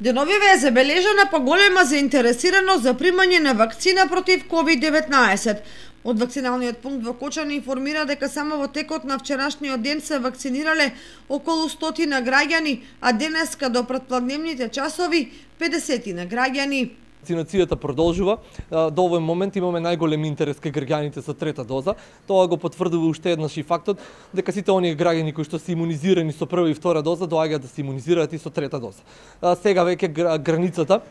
Деновиве е забележана поголема заинтересираност за примање на вакцина против COVID-19. Од вакциналниот пункт во Кочани информира дека само во текот на вчерашниот ден се вакцинирале околу 100 граѓани, а денеска до претпладневните часови 50 граѓани. Вакцинацијата продолжува. До овој момент имаме најголем интерес кај граѓаните со трета доза. Тоа го потврдува уште еднаш и фактот дека сите оние граѓани кои што се имунизирани со прва и втора доза доаѓаат да се имунизираат и со трета доза. Сега веќе границата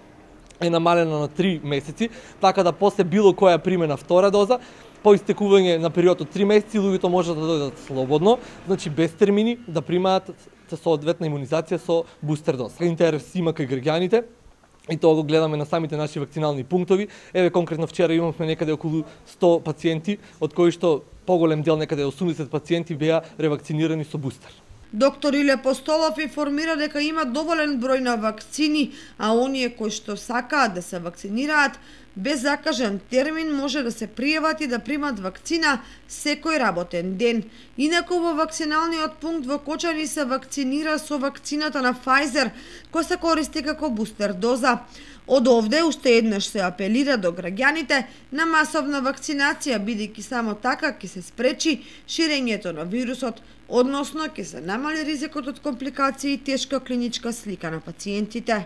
е намалена на 3 месеци, така да после било која примена втора доза, по истекување на период од 3 месеци, луѓето можат да дојдат слободно, значи без термини, да примаат соодветна имунизација со бустер доза. Интерес има кај граѓаните, и тоа го гледаме на самите наши вакцинални пунктови. Еве конкретно вчера имавме некаде околу 100 пациенти, од кои што поголем дел, некаде 80 пациенти беа ревакцинирани со бустер. Доктор Иле Постолов информира дека има доволен број на вакцини, а оние кои што сакаат да се вакцинираат, без закажан термин може да се пријават и да примат вакцина секој работен ден. Инаку во вакциналниот пункт во Кочани се вакцинира со вакцината на Pfizer, која се користи како бустер доза. Од овде уште еднаш се апелира до граѓаните на масовна вакцинација, бидејќи само така ќе се спречи ширењето на вирусот, односно ќе се намали ризикот од компликации и тешка клиничка слика на пациентите.